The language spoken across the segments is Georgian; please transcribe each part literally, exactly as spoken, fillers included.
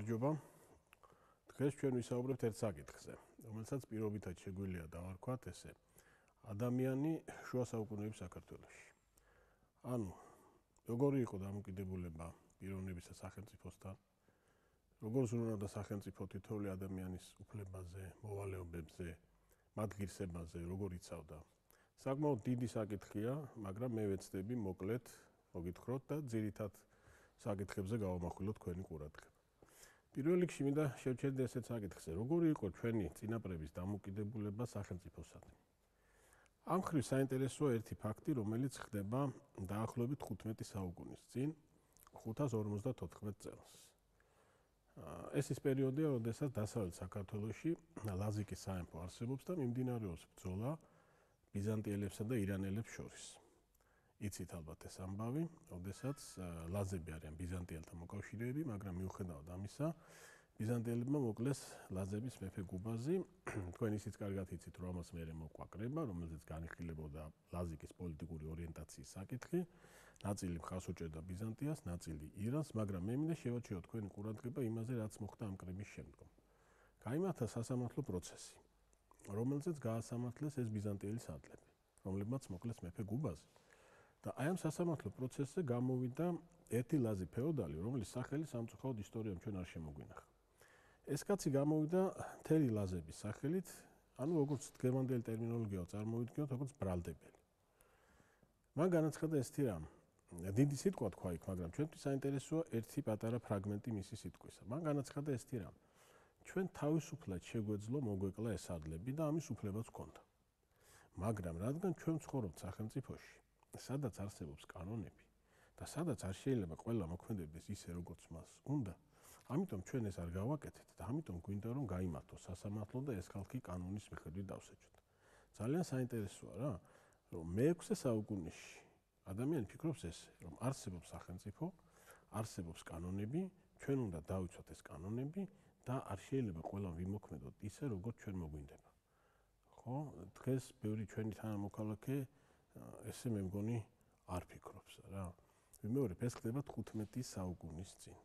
გამარჯობა. დღეს ჩვენ ვისაუბრებთ ერთ საკითხზე, რომელსაც პირობითად შეგვიძლია დავარქვათ ესე: ადამიანი შუა საუკუნეების საქართველოში. ანუ, როგორი იყო დამოკიდებულება პიროვნებისა სახელმწიფოსთან, როგორ ზრუნავდა სახელმწიფო თითოეული ადამიანის უფლებაზე, მოვალეობებზე, მათ ღირსებაზე, როგორ იცავდა. საკმაოდ დიდი საკითხია, მაგრამ მე ვეცდები მოკლედ მოგითხროთ და ძირითად საკითხებზე გავამახვილოთ თქვენი ყურადღება. პირველ რიგში მინდა შევჩერდე ესეთ საკითხზე, როგორი იყო ჩვენი წინაპრების დამოკიდებულება სახელმწიფოსადმი. ამ მხრივ საინტერესოა ერთი ფაქტი, რომელიც ხდება დაახლოებით ხუთმეტი საუკუნის წინ, ხუთას ორმოცდათოთხმეტ წელს. ეს ის პერიოდია, როდესაც დასავლეთ საქართველოში ლაზიკის სამეფო არსებობს და მიმდინარეობს ბრძოლა ბიზანტიელებსა და ირანელებს შორის. იცით ალბათ ეს ამბავი, როდესაც ლაზები არიან ბიზანტიელთა მოკავშირეები, მაგრამ მიუხედავად ამისა, ბიზანტიელებმა მოკლეს ლაზების მეფე გუბაზი, თქვენ ისიც კარგად იცით, რომ ამას მერე მოყვა კრება, რომელზეც განიხილებოდა ლაზიკის პოლიტიკური ორიენტაციის საკითხი, ნაწილი მხარს უჭერდა ბიზანტიას, ნაწილი ირანს, მაგრამ მე მინდა შევაჩიოთ თქვენი ყურადღება იმაზე, რაც მოხდა ამ კრების შემდგომ. გაიმართა სასამართლო პროცესი, რომელზეც გაასამართლეს ეს ბიზანტიელი სარდლები, რომლებმაც მოკლეს მეფე გუბაზი. და აი ამ სასამართლო პროცესზე გამოვიდა ერთი ლაზი ფეოდალი, რომლის სახელი სამწუხაროდ ისტორიამ ჩვენ არ შემოგვინახა. ეს კაცი გამოვიდა მთელი ლაზების სახელით, ანუ როგორც დღევანდელი ტერმინოლოგიაო წარმოვიდგინოთ, როგორც ბრალდებელი. მან განაცხადა ესეთი რამ, დიდი სიტყვა თქვა იქ, მაგრამ ჩვენთვის საინტერესოა ერთი პატარა ფრაგმენტი მისი სიტყვისა. მან განაცხადა ესეთი რამ, ჩვენ თავისუფლად შეგვეძლო მოგვეკლა ეს სარდლები და ამის უფლებაც გვქონდა. მაგრამ რადგან ჩვენ ვცხოვრობთ სახელმწიფოში, სადაც არსებობს კანონები და სადაც არ შეიძლება ყველა მოქმედებდეს ისე, როგორც მას უნდა, ამიტომ ჩვენ ეს არ გავაკეთეთ და ამიტომ გვინდა რომ გაიმართოს სასამართლო და ეს ხალხი კანონის მიხედვით დავსაჯოთ. ძალიან საინტერესოა რა, რომ მეექვსე საუკუნეში ადამიანი ფიქრობს ესე, რომ არსებობს სახელმწიფო, არსებობს კანონები, ჩვენ უნდა დავიცვათ ეს კანონები და არ შეიძლება ყველამ ვიმოქმედოთ ისე, როგორც ჩვენ მოგვინდება. ხო, დღეს ბევრი ჩვენი თანამოქალაქე ესე მე მგონი არ ფიქრობს რა. ვიმეორებ, ეს ხდება თხუთმეტი საუკუნის წინ.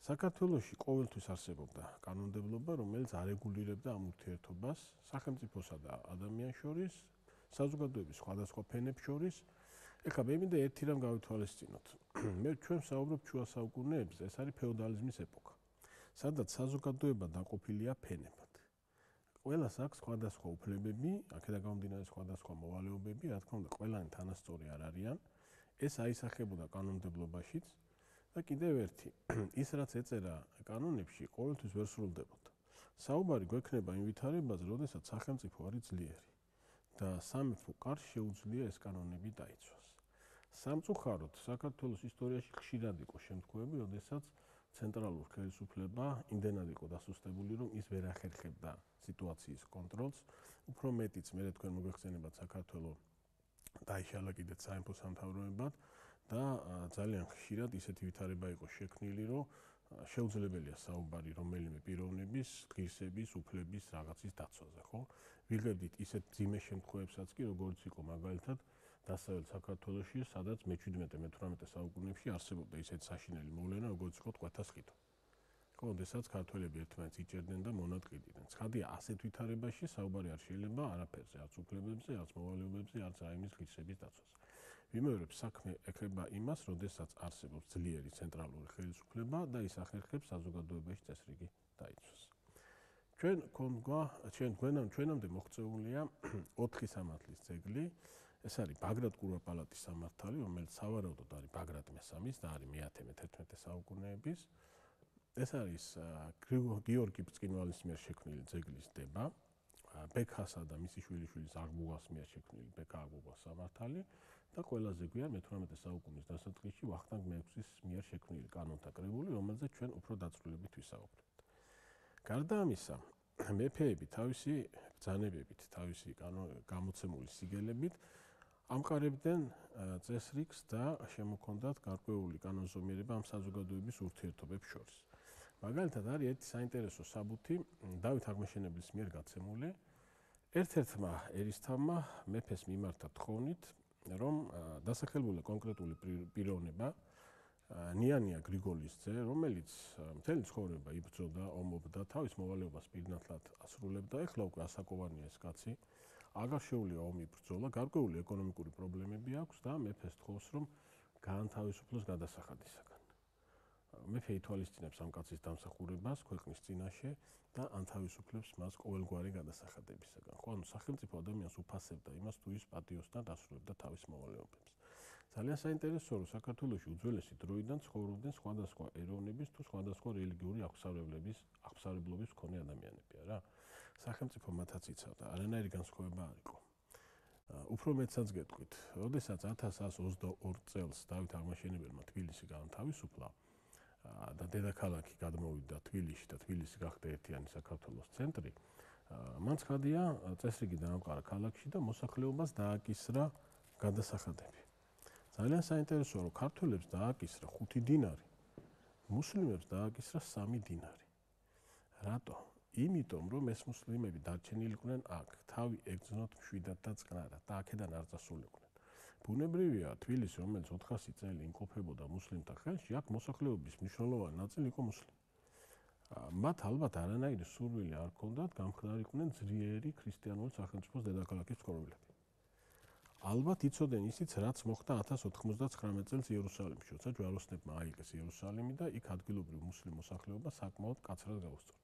საქართველოში ყოველთვის არსებობდა კანონმდებლობა, რომელიც არეგულირებდა ამ ურთიერთობას სახელმწიფოსა და ადამიანს შორის, საზოგადოების სხვადასხვა ფენებს შორის. ეხლა მე მინდა ერთი რამ გავითვალისწინოთ. მე ჩვენ ვსაუბრობ შუა საუკუნეებზე, ეს არის ფეოდალიზმის ეპოქა, სადაც საზოგადოება დაყოფილია ფენებად. ყველას აქვს სხვადასხვა უფლებები, აქედან გამომდინარე სხვადასხვა მოვალეობები, რა თქმა უნდა, ყველანი თანასწორი არ არიან. ეს აისახებოდა კანონმდებლობაშიც და კიდევ ერთი, ის რაც ეწერა კანონებში, ყოველთვის ვერ სრულდებოდა. საუბარი გვექნება იმ ვითარებაზე, როდესაც სახელმწიფო არის ძლიერი და სამეფო კარს შეუძლია ეს კანონები დაიცვას. სამწუხაროდ, საქართველოს ისტორიაში ხშირად იყო შემთხვევები, როდესაც ცენტრალურ ხელისუფლება იმდენად იყო დასუსტებული, რომ ის ვერ ახერხებდა სიტუაციის კონტროლს. უფრო მეტიც, მე თქვენ მოგეხსენებათ, საქართველოს დაიშალა კიდეც სამეფო სამთავროებად და ძალიან ხშირად ისეთი ვითარება იყო შექმნილი, რომ შეუძლებელია საუბარი რომელიმე პიროვნების, ღირსების, უფლების რაღაცის დაცვაზე, ხო? ვიღებდით ისეთ ძიმე შემთხვევებსაც კი, როგორც იყო მაგალითად დასავლეთ საქართველოში, სადაც მეჩვიდმეტე მეთვრამეტე საუკუნეებში არსებობდა ისეთი საშინელი მოვლენა, როგორც იყო ტყვეთა სყიდვა. ხო, როდესაც ქართველები ერთმანეთს იჭერდნენ და მონატყიდიდნენ. ცხადია, ასეთ ვითარებაში საუბარი არ შეიძლება არაფერზე, არც უფლებებზე, არც მოვალეობებზე, არც რაიმის ღირსების დაცვაზე. ვიმეორებ, საქმე ეხება იმას, როდესაც არსებობს ძლიერი ცენტრალური ხელისუფლება და ის ახერხებს საზოგადოებაში წესრიგი დაიცვას. ჩვენ გქონდა, ჩვენ ჩვენამდე მოღწეულია ოთხი სამართლის ძეგლი. ეს არის ბაგრატ კურაპალატის სამართალი, რომელიც სავარაუდოდ არის ბაგრატ მესამის და არის მეათე მეთერთმეტე საუკუნეების. ეს არის გიორგი ბრწყინვალის მიერ შექმნილი ძეგლის დება, ბექასა და მისი შვილიშვილის აღბუღას მიერ შექმნილი ბექა აღბუღას სამართალი და ყველაზე გვიან მეთვრამეტე საუკუნის დასაწყისში ვახტანგ მეექვსის მიერ შექმნილი კანონთა კრებული, რომელზეც ჩვენ უფრო დაწვრილებით ვისაუბრებთ. გარდა ამისა, მეფეები თავისი ბრძანებებით, თავისი გამოცემული სიგელებით ამყარებდნენ წესრიგს და შემოქონდათ გარკვეული კანონზომიერება ამ საზოგადოების ურთიერთობებს შორის. მაგალითად არის ერთი საინტერესო საბუთი დავით აღმაშენებლის მიერ გაცემული. ერთ-ერთმა ერისთავმა მეფეს მიმართა თხოვნით, რომ დასახელებული კონკრეტული პიროვნება ნიანია გრიგოლის ძე, რომელიც მთელი ცხოვრება იბრძოდა, ომობდა, თავის მოვალეობას პირნათლად ასრულებდა, ეხლა უკვე ასაკოვანია ეს კაცი. აღარ შეუძლია ომი ბრძოლა, გარკვეული ეკონომიკური პრობლემები აქვს და მეფეს თხოვს, რომ გაანთავისუფლოს გადასახადისაგან. მეფე ითვალისწინებს ამ კაცის დამსახურებას ქვეყნის წინაშე და ანთავისუფლებს მას ყოველგვარი გადასახადებისაგან. ხო, ანუ სახელმწიფო ადამიანს უფასებდა იმას, თუ ის პატიოსთან დასრულებდა თავის მოვალეობებს. ძალიან საინტერესოა, რომ საქართველოში უძველესი დროიდან ცხოვრობდნენ სხვადასხვა ეროვნების თუ სხვადასხვა რელიგიური აღსავლებების აღსავებლობის მქონე ადამიანები, არა? სახელმწიფო მათაც იცავდა, არანაირი განსხვავება არ იყო. უფრო მეტსაც გეტყვით, როდესაც ათას ასი ოცდაორი წელს დავით აღმაშენებელმა თბილისი გაანთავისუფლა და დედაქალაქი გადმოვიდა თბილისში და თბილისი გახდა ერთიანი საქართველოს ცენტრი, მან ცხადია წესრიგი დაამყარა ქალაქში და მოსახლეობას დააკისრა გადასახადები. ძალიან საინტერესოა, რომ ქართველებს დააკისრა ხუთი დინარი, მუსლიმებს დააკისრა სამი დინარი. რატო? იმიტომ, რომ ეს მუსლიმები დარჩენილიყვნენ აქ, თავი ეგრძნოთ მშვიდად და წყნარად და აქედან არ წასულიყვნენ. ბუნებრივია, თბილისი, რომელიც ოთხასი წელი იმყოფებოდა მუსლიმთა ხელში, აქ მოსახლეობის მნიშვნელოვანი ნაწილი იყო მუსლიმი. მათ ალბათ არანაირი სურვილი არ ჰქონდათ გამხდარიყვნენ ძლიერი ქრისტიანული სახელმწიფოს დედაქალაქის მცხოვრებლები. ალბათ იცოდნენ ისიც, რაც მოხდა ათას ოთხმოცდაცხრამეტ წელს იერუსალიმში, როცა ჯვაროსნებმა აიღეს იერუსალიმი და იქ ადგილობრივ მუსლიმ მოსახლეობა საკმაოდ მკაცრად გაუსწორდნენ.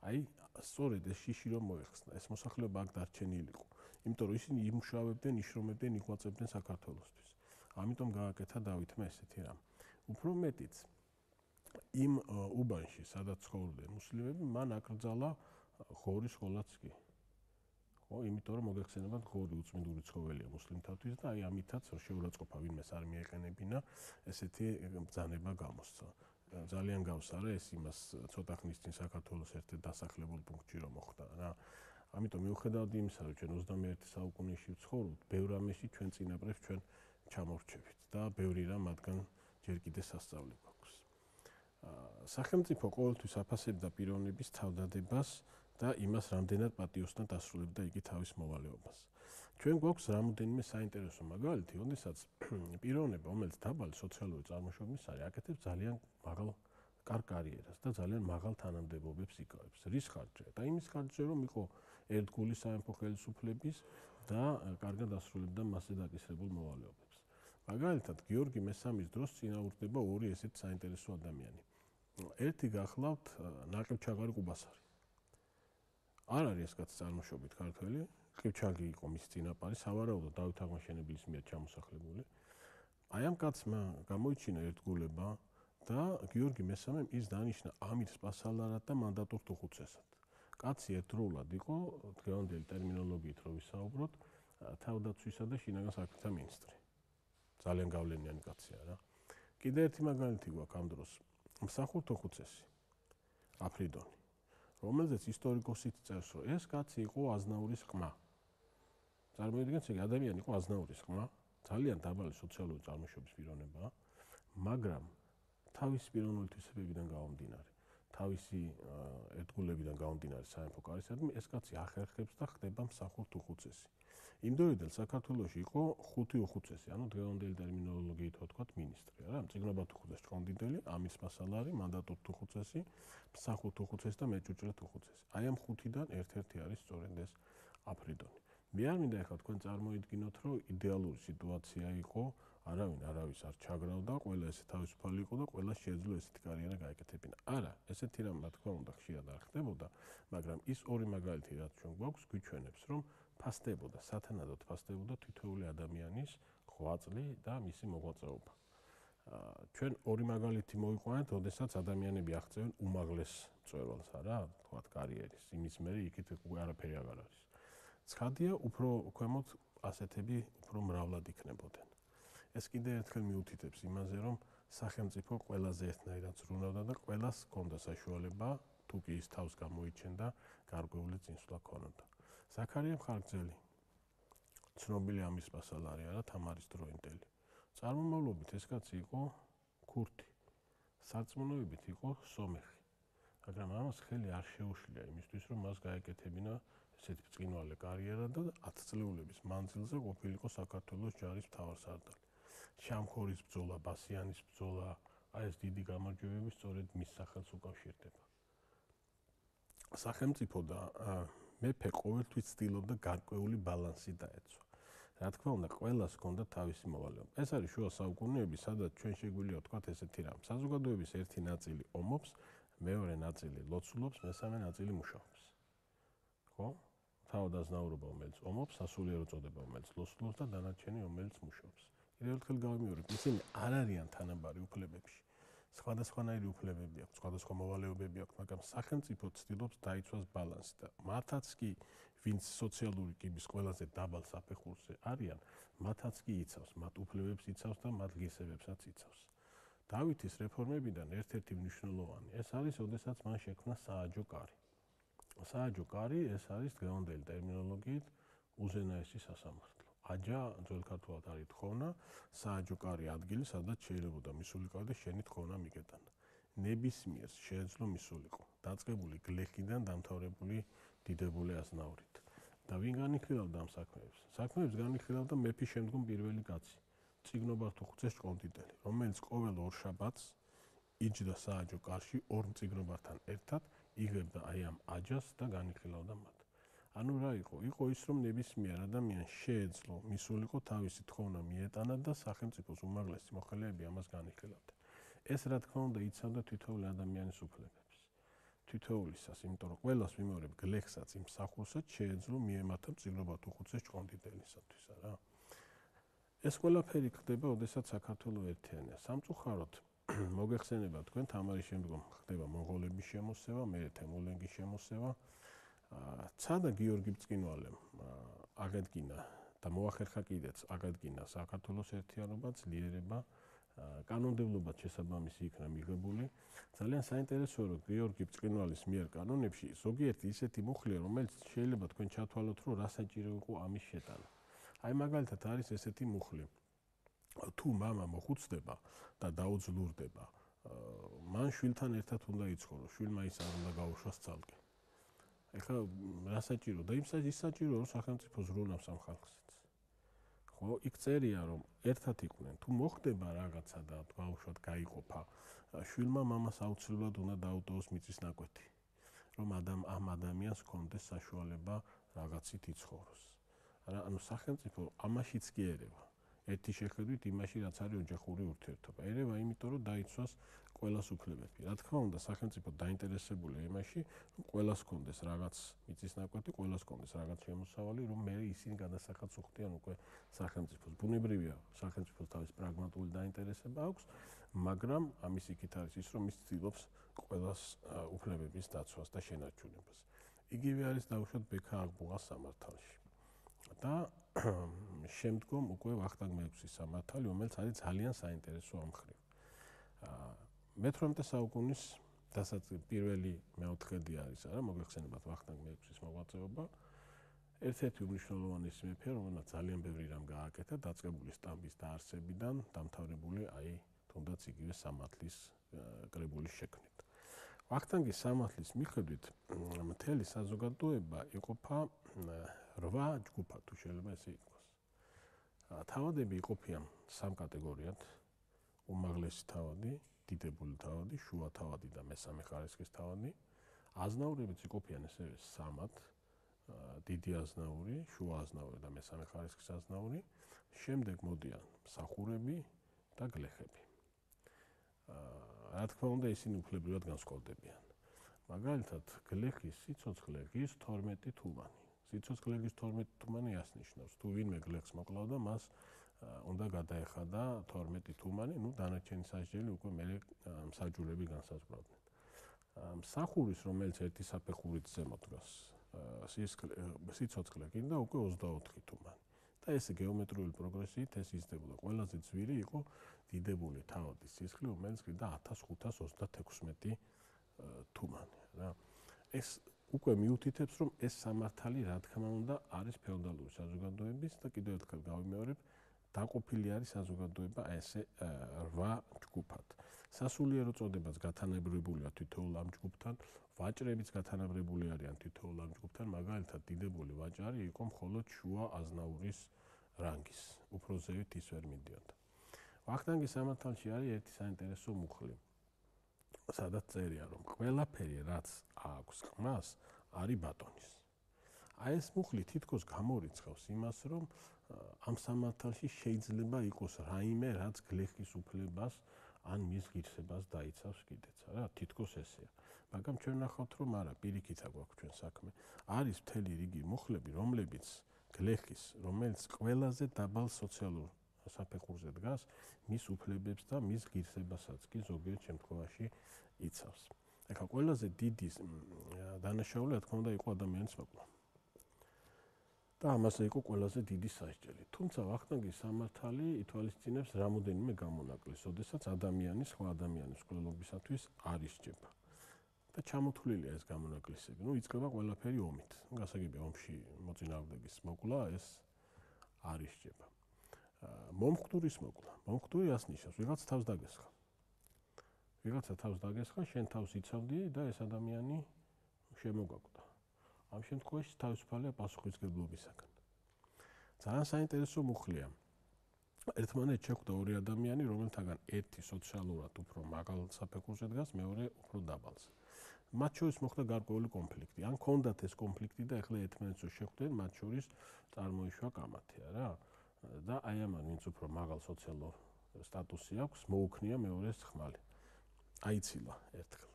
აი, სწორედ ეს შიში რომ მოეხსნა, ეს მოსახლეობა აქ დარჩენილი იყო, იმიტომ რომ ისინი იმუშავებდნენ, იშრომებდნენ, იღვაწებდნენ საქართველოსთვის. ამიტომ გააკეთა დავითმა ესეთი რამ. უფრო მეტიც, იმ უბანში, სადაც ცხოვრობდნენ მუსლიმები, მან აკრძალა ღორის სკოლაც კი. ხო, იმიტომ რომ მოგეხსენებათ, ღორი უწმინდური ცხოველია მუსლიმთათვის და აი ამითაც შეურაცხყოფა ვინმეს არ მიეყენებინა, ესეთი ბრძანება გამოსცა. ძალიან გავს არა ეს იმას ცოტა ხნის წინ საქართველოს ერთ-ერთ დასახლებულ პუნქტში რომ მოხდა რა. ამიტომ მიუხედავად იმისა, რომ ჩვენ ოცდამეერთე საუკუნეში ვცხოვრობთ, ბევრ რამეში ჩვენ წინაპრებს ჩვენ ჩამორჩებით და ბევრი რამ მათგან ჯერ კიდე სასწავლი გვაქვს. სახელმწიფო ყოველთვის აფასებდა პიროვნების თავდადებას და იმას რამდენად პატიოსთან დასრულებდა იგი თავის მოვალეობას. ჩვენ გვაქვს რამოდენიმე საინტერესო მაგალითი, როდესაც პიროვნება, რომელიც დაბალი სოციალური წარმოშობის არის, აკეთებს ძალიან მაღალ კარიერას და ძალიან მაღალ თანამდებობებს იკავებს. რის ხარჯზე? და იმის ხარჯზე, რომ იყო ერთგული სამეფო ხელისუფლების და კარგად ასრულებდა მასზე დაკისრებულ მოვალეობებს. მაგალითად, გიორგი მესამის დროს წინააღმდება ორი ესეთ საინტერესო ადამიანი. ერთი გახლავთ ნაყიდჩაღარი ყუბასარი. არ არის ეს კაცი წარმოშობით ქართველი, ყივჩაგი იყო მის წინაპარი, სავარაუდოდ დავით აღმაშენებლის მიერ ჩამოსახლებული. აი ამ კაცმა გამოიჩინა ერთგულება და გიორგი მესამემ ის დანიშნა ამირ სპასალარად და მანდატურ თუხუცესად. კაცი ერთდროულად იყო, დღევანდელი ტერმინოლოგიით რო ვისაუბროთ, თავდაცვისა და შინაგან საქმეთა მინისტრი. ძალიან გავლენიანი კაცია რა. კიდე ერთი მაგალითი გვაქვს ამ დროს. მსახურ თუხუცესი აფრიდონი, რომელზეც ისტორიკოსით წერს, რომ ეს კაცი იყო აზნაურის ყმა. წარმოიდგინეთ, ეს ადამიანი იყო აზნაურის ყმა, ძალიან დაბალი სოციალური წარმოშობის პიროვნებაა, მაგრამ თავისი პიროვნული თვისებებიდან გამომდინარე, თავისი ერთგულებიდან გამომდინარე სამეფო კარისადმი, ეს კაცი ახერხებს და ხდება მსახურ თუხუცესი. იმ დროიდან საქართველოში იყო ხუთი უხუცესი, ანუ დღევანდელი ტერმინოლოგიით ვთქვათ მინისტრი, რა, მწიგნობარ თუხუცეს ჭყონდიდელი, ამირ სპასალარი, მანდატურ თუხუცესი, მსახურ თუხუცესი და მეჭუჭრე თუხუცესი. აი ამ ხუთიდან ერთ-ერთი არის სწორედ ეს აფრიდონი. მე არ მინდა ახლა თქვენ წარმოიდგინოთ, რომ იდეალური სიტუაცია იყო, არავინ არავის არ ჩაგრავდა, ყველა ესე თავისუფალი იყო და ყველა შეეძლო ესეთი კარიერა გაეკეთებინა. არა, ესეთი რამ რა თქმა უნდა ხშირად არ ხდებოდა, მაგრამ ის ორი მაგალითი რაც ჩვენ გვაქვს, გვიჩვენებს, რომ ფასდებოდა, სათანადოდ ფასდებოდა თითოეული ადამიანის ღვაწლი და მისი მოღვაწეობა. ჩვენ ორი მაგალითი მოვიყვანეთ, როდესაც ადამიანები აღწევენ უმაღლეს მწვერვალს, არა, თქვათ კარიერის, იმის მერე იქით უკვე არაფერი აღარ არის. ცხადია, უფრო ქვემოთ ასეთები უფრო მრავლად იქნებოდნენ. ეს კიდე ერთხელ მიუთითებს იმაზე, რომ სახელმწიფო ყველაზე ერთნაირად ზრუნავდა და ყველას ჰქონდა საშუალება, თუ კი ის თავს გამოიჩენდა, გარკვეული წინსვლა ჰქონოდა. ზაქარია მხარგრძელი, ცნობილი ამირ სპასალარი არა, თამარის დროინდელი. წარმომავლობით ეს კაცი იყო ქურთი, სარწმუნოებით იყო სომეხი, მაგრამ ამას ხელი არ შეუშლია იმისთვის, რომ მას გაეკეთებინა ესეთი ბრწყინვალე კარიერა და ათწლეულების მანძილზე ყოფილიყო საქართველოს ჯარის მთავარსარდალი. შამქორის ბრძოლა, ბასიანის ბრძოლა, აი ეს დიდი გამარჯვებები სწორედ მის სახელს უკავშირდება. სახელმწიფო და მეფე ყოველთვის ცდილობდა გარკვეული ბალანსი დაეცვა. რა თქმა უნდა, ყველას ჰქონდა თავისი მოვალეობა. ეს არის შუა საუკუნეები, სადაც ჩვენ შეგვიძლია ვთქვათ ესეთი რამ. საზოგადოების ერთი ნაწილი ომობს, მეორე ნაწილი ლოცულობს, მესამე ნაწილი მუშაობს. ხო? თავადაზნაურობა, რომელიც ომობს, სასულიერო წოდება, რომელიც ლოცულობს და დანარჩენი, რომელიც მუშაობს. კიდევ ერთხელ გავიმეორებ, ისინი არ არიან თანაბარი უფლებებში. სხვადასხვანაირი უფლებები აქვს, სხვადასხვა მოვალეობები აქვს, მაგრამ სახელმწიფო ცდილობს დაიცვას ბალანსი და მათაც კი, ვინც სოციალური კიბის ყველაზე დაბალ საფეხურზე არიან, მათაც კი იცავს, მათ უფლებებს იცავს და მათ ღირსებებსაც იცავს. დავითის რეფორმებიდან ერთ-ერთი მნიშვნელოვანი ეს არის, ოდესაც მან შექმნა სააჯო კარი. სააჯო კარი ეს არის დღევანდელი ტერმინოლოგიით უზენაესი სასამართლო. აჯა ძველ ქართულად არის თხოვნა, სააჯო კარი ადგილი, სადაც შეიძლებოდა მისულიყო და შენი თხოვნა მიგეტანა. ნებისმიერს შეეძლო მისულიყო, დაწყებული გლეხიდან დამთავრებული დიდებული აზნაურით. და ვინ განიხილავდა ამ საქმეებს? საქმეებს განიხილავდა მეფის შემდგომ პირველი კაცი, წიგნობართუხუცეს ჭყონდიდელი, რომელიც ყოველ ორშაბათს იჯდა სააჯო კარში ორ მწიგნობართან ერთად, იღებდა აი ამ აჯას და განიხილავდა მათ. ანუ რა იყო? იყო ის, რომ ნებისმიერ ადამიანს შეეძლო მისულიყო თავისი თხოვნა მიეტანა და სახელმწიფოს უმაღლესი მოხელეები ამას განიხილავდნენ. ეს რა თქმა უნდა იცავდა თითოეული ადამიანის უფლებებს. თითოეულისას, იმიტომ რომ ყველას ვიმეორებ გლეხსაც იმ მსახურსაც შეეძლო მიემართა მწიგნობართუხუცეს ჭყონდიდელისათვის, რა. ეს ყველაფერი ხდება, ოდესაც საქართველო ერთიანია. სამწუხაროდ მოგეხსენება თქვენ თამარის შემდგომ ხდება მონღოლების შემოსევა, მერე თემურლენგის შემოსევა. ცადა გიორგი ბწყინვალემ აღედგინა და მოახერხა კიდეც აღედგინა საქართველოს ერთიანობა, ძლიერება, კანონმდებლობაც შესაბამისი იქნა მიღებული. ძალიან საინტერესოა, რომ გიორგი ბწყინვალის მიერ კანონებში ზოგიერთი ისეთი მუხლია, რომელიც შეიძლება თქვენ ჩათვალოთ, რომ რა საჭირო იყო ამის შეტანა. აი მაგალითად არის ესეთი მუხლი. თუ მამა მოხუცდება და დაუძლურდება, მან შვილთან ერთად უნდა იცხოვროს, შვილმა ის არ უნდა გაუშვას ცალკე. ეხლა რა საჭირო და იმ ის საჭირო რომ სახელმწიფო ზრუნავს ამ ხალხსაც. ხო, იქ წერია რომ ერთად იყვნენ, თუ მოხდება რაღაცა და გაუშვათ გაიყოფა, შვილმა მამას აუცილებლად უნდა დაუტოვოს მიწის ნაკვეთი, რომ ადამ ამ ადამიანს ჰქონდეს საშუალება რაღაცით იცხოვროს. რა, ანუ სახელმწიფო ამაშიც კი ერევა. ერთი შეხედვით იმაში რაც არის ოჯახური ურთიერთობა. ერევა იმიტომ რომ დაიცვას ყველას უფლებები. რა თქმა უნდა, სახელმწიფო დაინტერესებულია იმაში, რომ ყველას ჰქონდეს რაღაც მიწის ნაკვეთი, ყველას ჰქონდეს რაღაც შემოსავალი, რომ მე ისინი გადასახადს უხდიან უკვე სახელმწიფოს. ბუნებრივია, სახელმწიფოს თავის პრაგმატული დაინტერესება აქვს, მაგრამ ამის იქით არის ის, რომ ის ცდილობს ყველას უფლებების დაცვას და შენარჩუნებას. იგივე არის დაუშვათ ბექა აღბუღას სამართალში. და შემდგომ უკვე ვახტანგ მეექვსის სამართალი, რომელიც არის ძალიან საინტერესო ამ მხრივ. მეთვრამეტე საუკუნის დასაწყისი პირველი მეოთხედი არის, არა, მოგეხსენებათ ვახტანგ მეექვსის მოღვაწეობა. ერთ-ერთი უმნიშვნელოვანესი მეფე, რომელმაც ძალიან ბევრი რამ გააკეთა, დაწყებული სტამბის დაარსებიდან, დამთავრებული აი თუნდაც იგივე სამართლის კრებულის შექმნით. ვახტანგის სამართლის მიხედვით მთელი საზოგადოება იყოფა რვა ჯგუფად, თუ შეიძლება ესე ითქვას. თავადები იყოფიან სამ კატეგორიად: უმაღლესი თავადი, დიდებული თავადი, შუა თავადი და მესამე ხარისხის თავადი. აზნაურებიც იყოფიან ესევე სამად: დიდი აზნაური, შუა აზნაური და მესამე ხარისხის აზნაური. შემდეგ მოდიან მსახურები და გლეხები. რა თქმა უნდა, ისინი უფლებრივად განსხვავდებიან. მაგალითად, გლეხის სიცოცხლე ღირს თორმეტი თუმანი. სიცოცხლე ღირს თორმეტი თუმანი ასნიშნავს, თუ ვინმე გლეხს მოკლავდა, მას უნდა გადაეხადა თორმეტი თუმანი, ну დანარჩენი სასჯელი უკვე მე მსაჯულები განსაზღვრავდნენ. მსახურის, რომელიც ერთი საფეხურით ზემოთ დგას, სიცოცხლე გინდა უკვე ოცდაოთხი თუმანი. და ეს გეომეტრიული პროგრესიით ეს იზრდებოდა. ყველაზე ძვირი იყო დიდებული თავადის სისხლი, რომელიც გინდა ათას ხუთას ოცდათექვსმეტი თუმანი, რა. ეს უკვე მიუთითებს, რომ ეს სამართალი, რა თქმა უნდა, არის ფეოდალური საზოგადოების და კიდევ ერთხელ გავიმეორებ, დაყოფილი არის საზოგადოება ესე რვა ჯგუფად. სასულიერო წოდებაც გათანაბრებულია თითოეულ ამ ჯგუფთან, ვაჭრებიც გათანაბრებული არიან თითოეულ ამ ჯგუფთან, მაგალითად, დიდებული ვაჭარი იყო მხოლოდ შუა აზნაურის რანგის, უფრო ზევით ის ვერ მიდიოდა. ვახტანგის სამართალში არის ერთი საინტერესო მუხლი. სადაც წერია, რომ ყველაფერი, რაც აქვს ყმას, არის ბატონის. აი ეს მუხლი თითქოს გამორიცხავს იმას, რომ ამ სამართალში შეიძლება იყოს რაიმე, რაც გლეხის უფლებას ან მის ღირსებას დაიცავს კიდეც, რა, თითქოს ესეა. მაგრამ ჩვენ ნახავთ, რომ არა, პირიქით აგვაქვს ჩვენ საქმე. არის მთელი რიგი მუხლები, რომლებიც გლეხის, რომელიც ყველაზე დაბალ სოციალურ საფეხურზე დგას, მის უფლებებს და მის ღირსებასაც კი ზოგიერთ შემთხვევაში იცავს. ეხლა ყველაზე დიდი დანაშაული, რა თქმა უნდა, იყო ადამიანის მოკლა. და ამაზე იყო ყველაზე დიდი სასჯელი. თუმცა ვახტანგის სამართალი ითვალისწინებს რამოდენიმე გამონაკლისს, როდესაც ადამიანი სხვა ადამიანის მკვლელობისათვის არ ისჯება. და ჩამოთვლილია ეს გამონაკლისები. ნუ იწყება ყველაფერი ომით. გასაგებია ომში მოწინააღმდეგის მოკლა ეს არ ისჯება. მომხდურის მოკლა. მომხდური რას ნიშნავს? ვიღაც თავს დაგესხა. ვიღაცა თავს დაგესხა, შენ თავს იცავდი და ეს ადამიანი შემოგაკვდა. ამ შემთხვევაში თავისუფალია პასუხისმგებლობისაგან. ძალიან საინტერესო მუხლია. ერთმანეთს შეხვდა ორი ადამიანი, რომელთაგან ერთი სოციალურად უფრო მაღალ საფეხურზე დგას, მეორე უფრო დაბალზე. მათ შორის მოხდა გარკვეული კონფლიქტი. ან ჰქონდათ ეს კონფლიქტი და ეხლა ერთმანეთს შეხვდნენ, მათ შორის წარმოიშვა კამათია რა. და აი ამან, ვინც უფრო მაღალ სოციალურ სტატუსი აქვს, მოუქნია მეორეს ხმალი. აიცილა ერთხელ.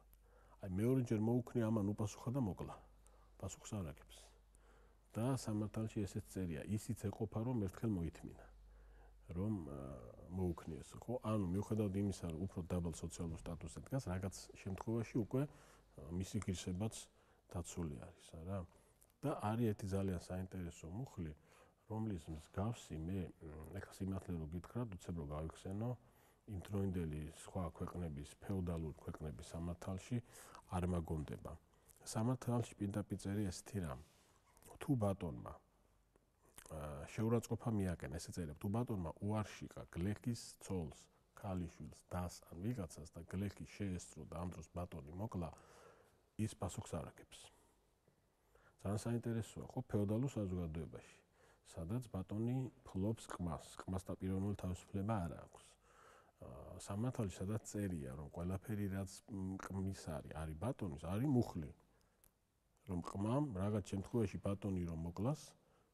აი მეორეჯერ მოუქნია, ამან უპასუხა და მოკლა. პასუხს არ აგებს. და სამართალში ესეც წერია, ისიც ეყოფა, რომ ერთხელ მოითმინა, რომ მოუქნიეს, ხო? ანუ მიუხედავად იმისა, რომ უფრო დაბალ სოციალურ სტატუსზე დგას, რაღაც შემთხვევაში უკვე მისი ღირსებაც დაცული არის, რა. და არის ერთი ძალიან საინტერესო მუხლი, რომლის მსგავსი მე, ეხლა სიმართლე რო გითხრათ, უცებ რო გავიხსენო, იმდროინდელი სხვა ქვეყნების, ფეოდალური ქვეყნების სამართალში არ მაგონდება. სამართალში პირდაპირ წერია ესეთი რამ. თუ ბატონმა შეურაცხყოფა მიაკენა, ესე წერია, თუ ბატონმა უარშიკა გლეხის ცოლს, ქალიშვილს, დას ან ვიღაცას და გლეხი შეესწრო და ამ დროს ბატონი მოკლა, ის პასუხს არ აგებს. ძალიან საინტერესოა, ხო, ფეოდალურ საზოგადოებაში, სადაც ბატონი ფლობს ყმას, ყმასთან პიროვნული თავისუფლება არ აქვს. სამართალში სადაც წერია, რომ ყველაფერი რაც ყმის არის, არის ბატონის, არის მუხლი. რომ ყმამ რაღაც შემთხვევაში ბატონი რომ მოკლას,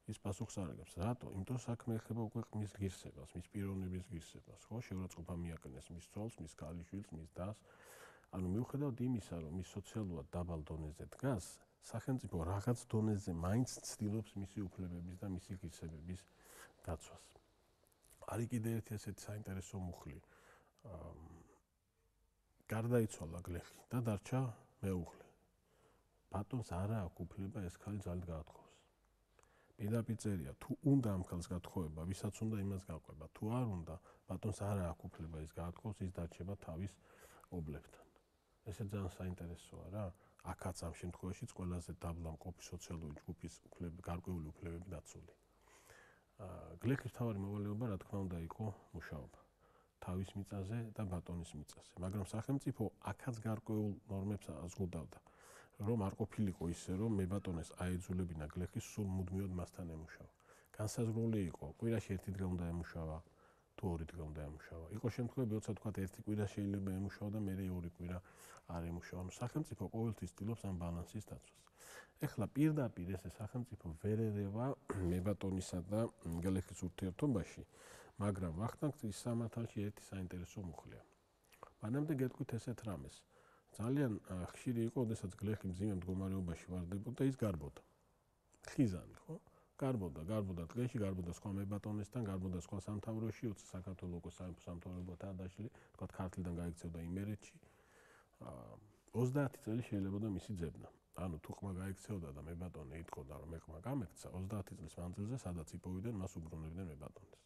ის პასუხს არ აგებს. რატო? იმიტომ საქმე ეხება უკვე ყმის ღირსებას, მის პიროვნების ღირსებას, ხო? შეურაცხყოფა მიაკენეს მის ცოლს, მის ქალიშვილს, მის დას. ანუ მიუხედავად იმისა, რომ ის სოციალურად დაბალ დონეზე დგას, სახელმწიფო რაღაც დონეზე მაინც ცდილობს მისი უფლებების და მისი ღირსებების დაცვას. არის კიდე ერთი ესეთი საინტერესო მუხლი. გარდაიცვალა გლეხი და დარჩა მეუღლე. ბატონს არა აქვს უფლება ეს ქალი ძალით გაათხოვოს. პირდაპირ წერია, თუ უნდა ამ ქალს გათხოვება, ვისაც უნდა იმას გაყვება. თუ არ უნდა, ბატონს არა აქვს უფლება ის გაათხოვოს, ის დარჩება თავის ობლებთან. ესე ძალიან საინტერესოა რა. აქაც ამ შემთხვევაშიც ყველაზე დაბლა მყოფი სოციალური ჯგუფის უფლები, გარკვეული უფლებები დაცული. გლეხის მთავარი მოვალეობა, რა თქმა უნდა, იყო მუშაობა. თავის მიწაზე და ბატონის მიწაზე. მაგრამ სახელმწიფო აქაც გარკვეულ ნორმებს აზღუდავდა. რომ არ ყოფილიყო ისე, რომ მებატონეს აეძულებინა გლეხის სულ მუდმივად მასთან ემუშავა. განსაზღვრული იყო, კვირაში ერთი დღე უნდა ემუშავა, თუ ორი დღე უნდა ემუშავა. იყო შემთხვევები, როცა თქვა ერთი კვირა შეიძლება ემუშავა და მერე ორი კვირა არ ემუშავა. ანუ სახელმწიფო ყოველთვის ცდილობს ამ ბალანსის დაცვას. ეხლა პირდაპირ ესე სახელმწიფო ვერ ერევა მებატონისა და გლეხის ურთიერთობაში, მაგრამ ვახტანგის სამართალში ერთი საინტერესო მუხლია. მანამდე გეტყვით ესეთ რამეს. ძალიან ხშირი იყო, როდესაც გლეხი მძიმე მდგომარეობაში ვარდებოდა, ის გარბოდა. ხიზანი, ხო? გარბოდა, გარბოდა დღეში, გარბოდა სხვა მებატონესთან, გარბოდა სხვა სამთავროში, როცა საქართველოს უკვე სამეფო სამთავროებად დაშლილი, თქვა ქართლიდან გაიქცეოდა იმერეთში. ოცდაათი წელი შეიძლებოდა მისი ძებნა. ანუ თუ ყმა გაიქცეოდა და მებატონე იტყოდა, რომ მე ყმა გამექცა, ოცდაათი წლის მანძილზე სადაც იპოვიდნენ, მას უბრუნებდნენ მებატონეს.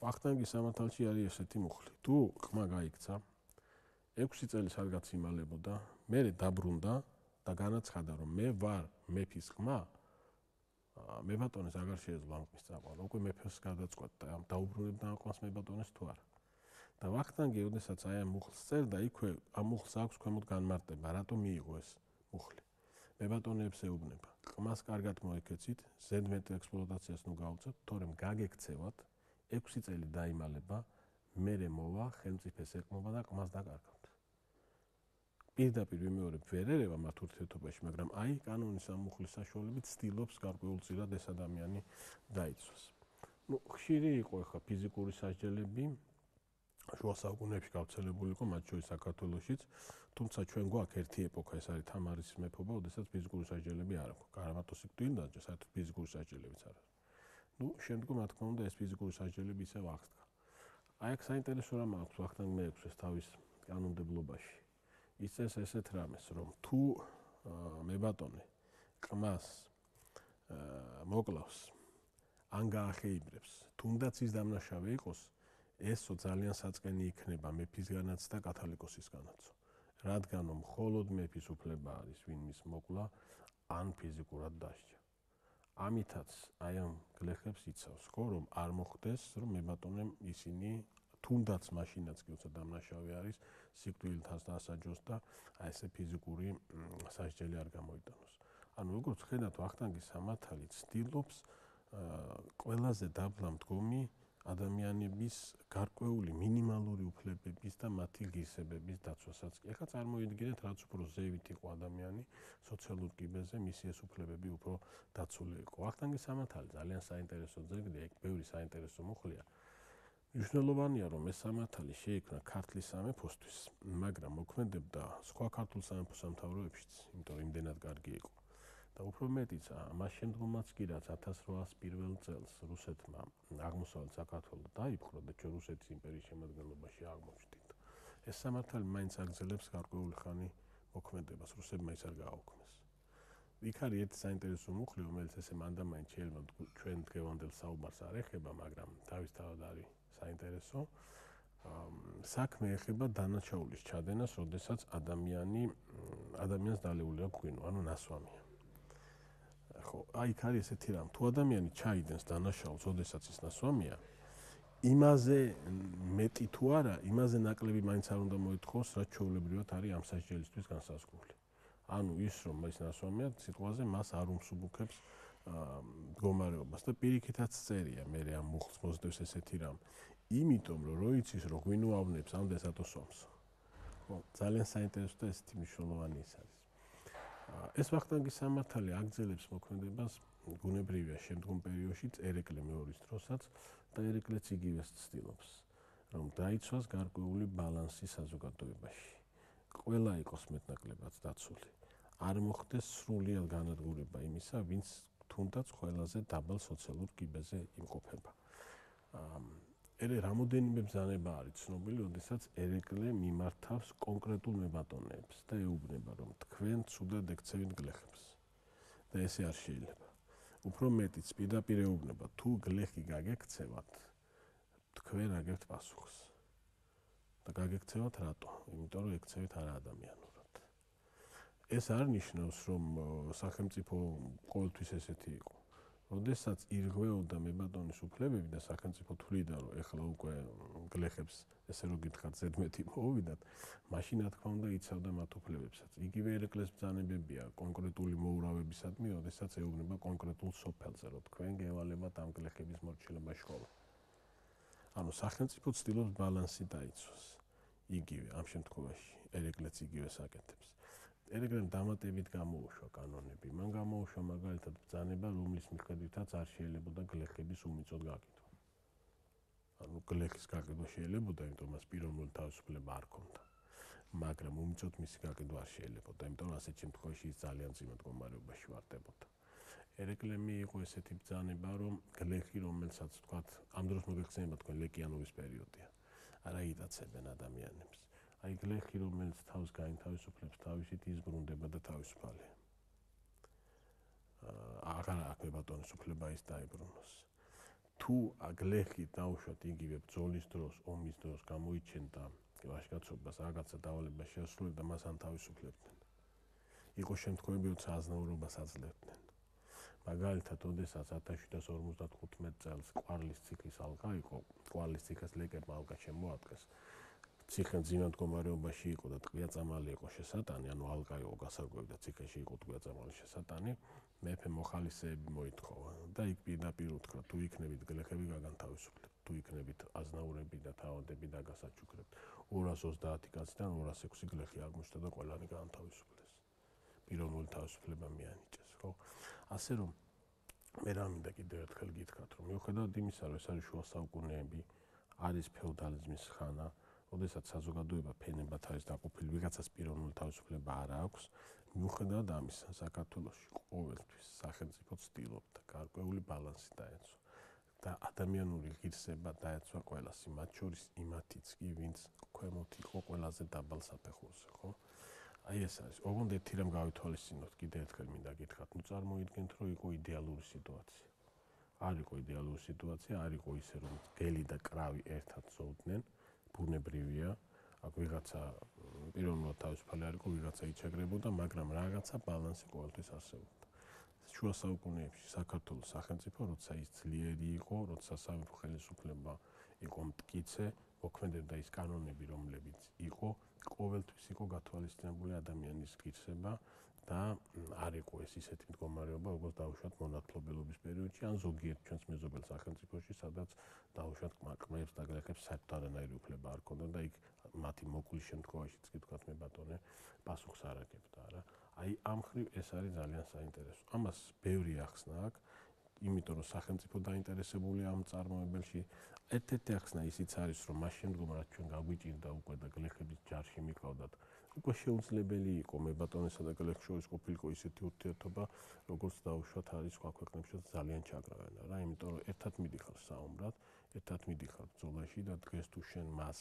ვახტანგის სამართალში არის ესეთი მუხლი. თუ ყმა გაიქცა, ექვსი წელი სადღაც იმალებოდა, მერე დაბრუნდა და განაცხადა, რომ მე ვარ მეფის ყმა, მებატონეს აღარ შეეძლო ამ ყმის წაყვანა. უკვე მეფეს გადაწყვეტდა, ამ დაუბრუნებდა ამ ყმას მებატონეს თუ არა. და ვახტანგი, როდესაც აი ამ მუხლს წერდა, იქვე ამ მუხლს აქვს ქვემოთ განმარტება, რატომ მიიღო ეს მუხლი. მებატონეებს ეუბნება, ყმას კარგად მოეკეცით, ზედმეტ ექსპლუატაციას ნუ გაუწევთ, თორემ გაგექცევათ, ექვსი წელი დაიმალება, მერე მოვა ხელმწიფეს ეკმობა და ყმას დაკარგავთ. პირდაპირ ვიმეორებ ვერ ერევა მათ ურთიერთობაში, მაგრამ აი კანონის ამუხლის საშუალებით ცდილობს გარკვეულწილად ეს ადამიანი დაიცვას. ნუ ხშირი იყო ახლა ფიზიკური სასჯელები შუა საუკუნეებში გავრცელებული იყო, მათ შორის საქართველოშიც, თუმცა ჩვენ გვაქვს ერთი ეპოქა, ეს არის თამარის მეფობა, როდესაც ფიზიკური სასჯელები არ აქვს. გარამატოსი გვინდა, საერთოდ ფიზიკური სასჯელებიც არ არის. ნუ შემდგომ რა თქმა უნდა ეს ფიზიკური სასჯელები ისევ აღსდგა. აი აქ საინტერესო რამ აქვს ვახტანგ მეექვსეს თავის კანონმდებლობაში. ისწრებს ესეთ რამეს, რომ თუ მებატონე ყმას მოკლავს ან გაახეიბრებს, თუნდაც ის დამნაშავე იყოს, ესო ძალიან საწყენი იქნება მეფისგანაც და კათალიკოსისგანაც. რადგან მხოლოდ მეფის უფლება არის ვინ მის მოკლა ან ფიზიკურად დასჯა. ამითაც აი ამ გლეხებს იცავს, ხო, რომ არ მოხდეს, რომ მებატონემ ისინი თუნდაც მაშინაც კი უცად დამნაშავე არის, სიკვდილთან დასაჯოს და აი ესე ფიზიკური სასჯელი არ გამოიტანოს. ანუ როგორც ხედავთ, ვახტანგის სამართალი ცდილობს ყველაზე დაბლა მდგომი ადამიანების გარკვეული მინიმალური უფლებების და მათი ღირსებების დაცვასაც. ეხლა წარმოიდგინეთ, რაც უფრო ზევით იყო ადამიანი სოციალურ კიბეზე, მისი ეს უფლებები უფრო დაცული იყო. ვახტანგის სამართალი ძალიან საინტერესო ძეგლია, იქ ბევრი საინტერესო მუხლია. მნიშვნელოვანია, რომ ეს სამართალი შეიქმნა ქართლის სამეფოსთვის, მაგრამ მოქმედებდა სხვა ქართულ სამეფო სამთავროებშიც, იმიტომ რომ იმდენად კარგი იყო. და უფრო მეტიც, მას შემდგომაც კი რაც ათას რვაას პირველ წელს რუსეთმა აღმოსავლეთ საქართველო დაიპყრო და ჩვენ რუსეთის იმპერიის შემადგენლობაში აღმოჩნდით. ეს სამართალი მაინც აგრძელებს გარკვეული ხანი მოქმედებას, რუსებმა ის არ გააუქმეს. იქ არის ერთი საინტერესო მუხლი, რომელიც ესე მანდამაინც შეიძლება ჩვენ დღევანდელ საუბარს არ ეხება, მაგრამ თავისთავად არის საინტერესო. საქმე ეხება დანაშაულის ჩადენას, როდესაც ადამიანი ადამიანს დალეული აქვს ღვინო, ანუ ნასვამია. ხო, აი იქ არის ესეთი რამ, თუ ადამიანი ჩაიდენს დანაშაულს, როდესაც ის ნასვამია, იმაზე მეტი თუ არა, იმაზე ნაკლები მაინც არ უნდა მოითხოვოს, რაც ჩვეულებრივად არის ამ სასჯელისთვის განსაზღვრული. ანუ ის რომ ის ნასვამია, სიტყვაზე მას არ უმსუბუქებს მდგომარეობას და პირიქითაც წერია, მე ამ მუხლს მოსდევს ესეთი რამ. იმიტომ რომ რო იცის რომ ღვინო ავნებს, ამდენს ატოსვამს. ხო, ძალიან საინტერესო და ესეთი მნიშვნელოვანი ის არის. ეს ვახტანგის სამართალი აგრძელებს მოქმედებას გუნებრივია შემდგომ პერიოდშიც ერეკლე მეორის დროსაც და ერეკლეც იგივეს ცდილობს, რომ დაიცვას გარკვეული ბალანსი საზოგადოებაში. ყველა იყოს მეტნაკლებად დაცული. არ მოხდეს სრულიად განადგურება იმისა, ვინც თუნდაც ყველაზე დაბალ სოციალურ კიბეზე იმყოფება. ერე რამოდენიმე ბრძანება არის ცნობილი, როდესაც ერეკლე მიმართავს კონკრეტულ მებატონეებს და ეუბნება, რომ თქვენ ცუდად ეკცევით გლეხებს. და ესე არ შეიძლება. უფრო მეტიც პირდაპირ ეუბნება, თუ გლეხი გაგექცევათ, თქვენ აგებთ პასუხს. და გაგექცევათ რატო? იმიტომ რომ ეკცევით არა ადამიანურად. ეს არ ნიშნავს, რომ სახელმწიფო ყოველთვის ესეთი იყო. როდესაც ირღვეოდა მებატონის უფლებები და სახელმწიფო თვლიდა, რომ ეხლა უკვე გლეხებს ესე რომ გითხრათ ზედმეტი მოვიდათ, მაშინ რა თქმა უნდა იცავდა მათ უფლებებსაც. იგივე ერეკლეს ბრძანებებია კონკრეტული მოურავებისადმი, როდესაც ეუბნება კონკრეტულ სოფელზე, რომ თქვენ გევალებათ ამ გლეხების მორჩილება შხოლა. ანუ სახელმწიფო ცდილობს ბალანსი დაიცვას. იგივე ამ შემთხვევაში ერეკლეც იგივეს აკეთებს. ერეკლემ დამატებით გამოუშვა კანონები. მან გამოუშვა მაგალითად ბრძანება, რომლის მიხედვითაც არ შეიძლებოდა გლეხების უმიწოდ გაკითხვა. ანუ გლეხის გაკითხვა შეიძლებოდა, იმიტომ რომ მას პიროვნული თავისუფლება არ ჰქონდა. მაგრამ უმიწოდ მისი გაკითხვა არ შეიძლებოდა, იმიტომ რომ ასეთ შემთხვევაში ის ძალიან წინა მდგომარეობაში ვარდებოდა. ერეკლემი იყო ესეთი ბრძანება, რომ გლეხი, რომელსაც თქვათ, ამ დროს მოგეხსენება თქვენ ლეკიანობის პერიოდია. არა იტაცებენ ადამიანებს. აი გლეხი, რომელიც თავს გაინთავისუფლებს, თავისით იზრუნდება და თავისუფალია. აღარ აქვს მებატონის უფლება ის დაიბრუნოს. თუ გლეხი დაუშვათ იგივე ბრძოლის დროს, ომის დროს გამოიჩენდა ვაჟკაცობას, რაღაცა დავალება შეასრულებდა, მას ანთავისუფლებდნენ. იყო შემთხვევები, როცა აზნაურობას აძლევდნენ. მაგალითად, როდესაც ათას შვიდას ორმოცდახუთმეტ წელს ყვარლის ციხის ალყა იყო, ყვარლის ციხეს ლეკებმა ალყა შემოადგეს. ციხე ძინად მდგომარეობაში იყო და ტყვია-წამალი იყო შესატანი, ანუ ალყა იყო გასარკვევი და ციხეში იყო ტყვია-წამალი შესატანი, მეფე მოხალისეები მოითხოვა და იქ პირდაპირ უთხრა, თუ იქნებით გლეხები გაგანთავისუფლებთ, თუ იქნებით აზნაურები და და თავადები დაგასაჩუქრებთ. ორას ოცდაათი კაციდან ორას ექვსი გლეხი აღმოჩნდა და ყველანი გაანთავისუფლეს. პიროვნული თავისუფლება მიანიჭეს, ხო? ასე რომ მე რა მინდა კიდევ ერთხელ გითხრათ, რომ მიუხედავად იმისა, რომ ეს არის შუა საუკუნეები, არის ფეოდალიზმის ხანა, როდესაც საზოგადოება ფენებად არის დაყოფილი, ვიღაცას პიროვნული თავისუფლება არ აქვს, მიუხედავად ამისა, საქართველოში ყოველთვის სახელმწიფო ცდილობდა გარკვეული ბალანსი დაეცვა და ადამიანური ღირსება დაეცვა ყველას, მათ შორის იმათიც კი, ვინც ქვემოთ იყო ყველაზე დაბალ საფეხურზე, ხო? აი ეს არის. ოღონდ ერთი რამ გავითვალისწინოთ, კიდევ ერთხელ მინდა გითხრათ, ნუ წარმოიდგინეთ, რომ იყო იდეალური სიტუაცია. არ იყო იდეალური სიტუაცია, არ იყო ისე, რომ გელი და კრავი ერთად ზოვდნენ, ბუნებრივია, აქ ვიღაცა პიროვნულად თავისუფალი არ იყო, ვიღაცა იჩაგრებოდა, მაგრამ რაღაცა ბალანსი ყოველთვის არსებობდა. შუა საუკუნეებში საქართველოს სახელმწიფო, როცა ის ძლიერი იყო, როცა სამეფო ხელისუფლება იყო მტკიცე, მოქმედებდა ის კანონები, რომლებიც იყო, ყოველთვის იყო გათვალისწინებული ადამიანის ღირსება და არ იყო ეს ისეთი მდგომარეობა, როგორც დაუშვათ მონათლობელობის პერიოდში, ან ზოგიერთ ჩვენს მეზობელ სახელმწიფოში, სადაც დაუშვათ კმაყმებს და გლეხებს საერთოდ არანაირი უფლება არ ჰქონდა და იქ მათი მოკვლის შემთხვევაშიც კი თქვათ მე ბატონე პასუხს არ აგებდა რა. აი ამ მხრივ ეს არის ძალიან საინტერესო. ამას ბევრი ახსნა აქვს, იმიტომ რომ სახელმწიფო დაინტერესებულია ამ წარმოებელში. ერთ-ერთი ახსნა ისიც არის, რომ მას შემდგომ რაც ჩვენ გაგვიჭირდა უკვე და გლეხების ჯარში მიყავდათ, უკვე შეუძლებელი იყო მე ბატონესა და გლეხს შორის ყოფილიყო ისეთი ურთიერთობა, როგორც დაუშვათ არის სხვა ქვეყნებშიც ძალიან ჩაგრავენ რა, იმიტომ რომ ერთად მიდიხარ საომრად, ერთად მიდიხარ ბრძოლაში და დღეს თუ შენ მას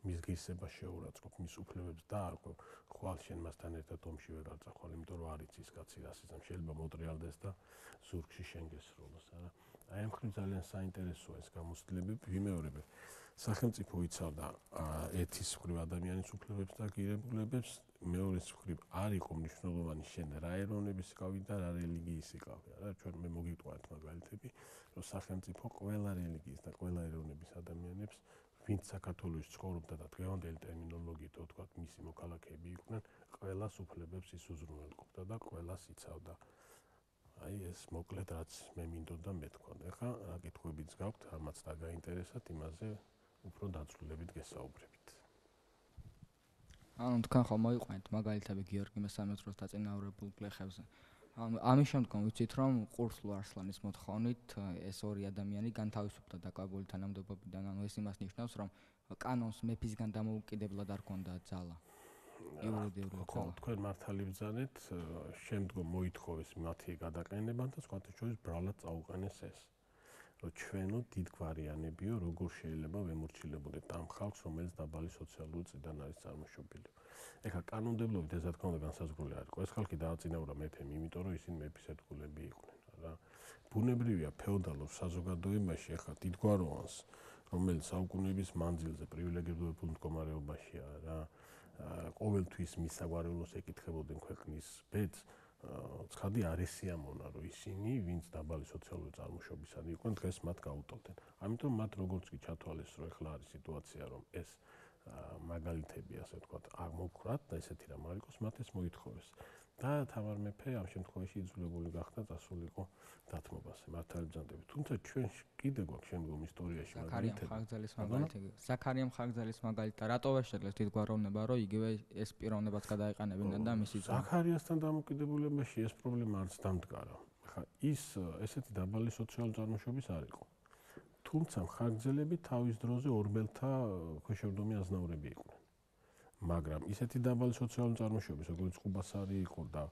მის ღირსება შეურაცხყოფ, მის უფლებებს დაარღვევ, ხვალ შენ მასთან ერთად ომში ვეღარ წახვალ, იმიტომ რომ არ იცის კაცი რას იცავს, შეიძლება მოტრიალდეს და ზურგში შენ გესროლოს, არა? აი ამ მხრივ ძალიან საინტერესოა ეს გამოცდილებები, ვიმეორებ. სახელმწიფო იცავდა ერთის მხრივ ადამიანის უფლებებს და ღირებულებებს, მეორეს მხრივ არ იყო მნიშვნელოვანი შენ რა ეროვნების იყავი და რა რელიგიის იყავი, არა? ჩვენ მე მოგიტყვათ მაგალითები, რომ სახელმწიფო ყველა რელიგიის და ყველა ეროვნების ადამიანებს ვინც საქართველოში ცხოვრობდა და დღევანდელი ტერმინოლოგიით ვთქვათ, მისი მოქალაქეები იყვნენ, ყველას უფლებებს ის უზრუნველყოფდა და ყველას იცავდა. აი ეს მოკლედ რაც მე მინდოდა მეთქვა. ეხლა რა კითხვებიც გაქვთ, რამაც დაგაინტერესათ, იმაზე უფრო დაწვრილებით გესაუბრებით. ანუ თქვენ ხომ მოიყვანეთ მაგალითები გიორგი მესამე-ძროს დაწინაურებულ გლეხებზე. ანუ ამის შემდგომ ვიცით რომ ყურსლუ არსლანის მოთხოვნით ეს ორი ადამიანი განთავისუფლდა დაკავებული თანამდებობიდან, ანუ ეს იმას ნიშნავს, რომ კანონს მეფისგან დამოუკიდებლად არ ჰქონდა ძალა. იურიდიული ძალა. თქვენ მართალი ბრძანეთ, შემდგომ მოითხოვეს მათი გადაყენება და სხვათა შორის ბრალად წაუყენეს ეს. რომ ჩვენო დიდგვარიანებიო, როგორ შეიძლება ვემორჩილებოდეთ ამ ხალხს, რომელიც დაბალი სოციალური წრიდან არის წარმოშობილი. ეხლა კანონმდებლობით ეს რა თქმა უნდა განსაზღვრული არ იყო. ეს ხალხი დააწინაურა მეფემ, იმიტომ რომ ისინი მეფის ერთგულები იყვნენ, რა. ბუნებრივია ფეოდალურ საზოგადოებაში ეხლა დიდგვაროვანს, რომელიც საუკუნეების მანძილზე პრივილეგირებულ მდგომარეობაშია, რა. ყოველთვის მის საგვარეულოს ეკითხებოდნენ ქვეყნის ბედს, ცხადი არ ესიამონა, რომ ისინი, ვინც დაბალი სოციალური წარმოშობისანი იყვნენ, დღეს მათ გაუტოვდნენ. ამიტომ მათ როგორც კი ჩათვალეს, რომ ეხლა არის სიტუაცია, რომ ეს მაგალითები, ასე ვთქვათ, აღმოვქრათ და ესეთი რამ არ იყოს, მათ ეს მოითხოვეს. და თამარ მეფე ამ შემთხვევაში იძულებული გახდა წასულიყო დათმობაზე, მართალი ბრძანდებით. თუმცა ჩვენ კიდე გვაქვს შემდგომ ისტორიაში მაგალითები. ხარგზელის მაგალითი. ზაქარია ხარგზელის მაგალითი და რატო ვერ შეძლეს დიდგვაროვნება, რომ იგივე ეს პიროვნებაც გადაეყენებინა და მისი ზაქარიასთან დამოკიდებულებაში ეს პრობლემა არც დამდგარა. ხა ის ესეთი დაბალი სოციალური წარმოშობის არ იყო. თუმცა ხარგზელები თავის დროზე ორბელთა ქვეშევრდომი აზნაურები იყვნენ. მაგრამ ისეთი დაბალი სოციალური წარმოშობის, როგორც ყუბასარი იყო და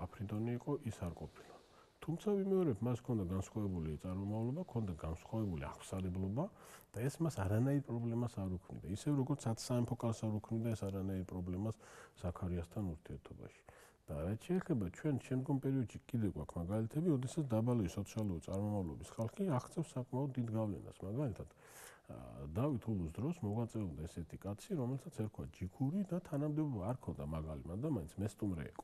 აფრიდონი იყო, ის არ ყოფილა. თუმცა ვიმეორებ, მას ჰქონდა განსხვავებული წარმომავლობა, ჰქონდა განსხვავებული აღსარებლობა და ეს მას არანაირ პრობლემას არ უქმნიდა. ისევ როგორც სათსამეფო კარს არ უქმნიდა ეს არანაირ პრობლემას ზაქარიასთან ურთიერთობაში. და რაც შეეხება ჩვენ შემდგომ პერიოდში კიდე გვაქვს მაგალითები, როდესაც დაბალი სოციალური წარმომავლობის ხალხი აღწევს საკმაოდ დიდ გავლენას, მაგალითად დავით ულუს დროს მოღვაწეობდა ესეთი კაცი, რომელსაც ერქვა ჯიქური და თანამდებობა არ ჰქონდა მაგალი, მაგრამ მაინც მესტუმრე იყო.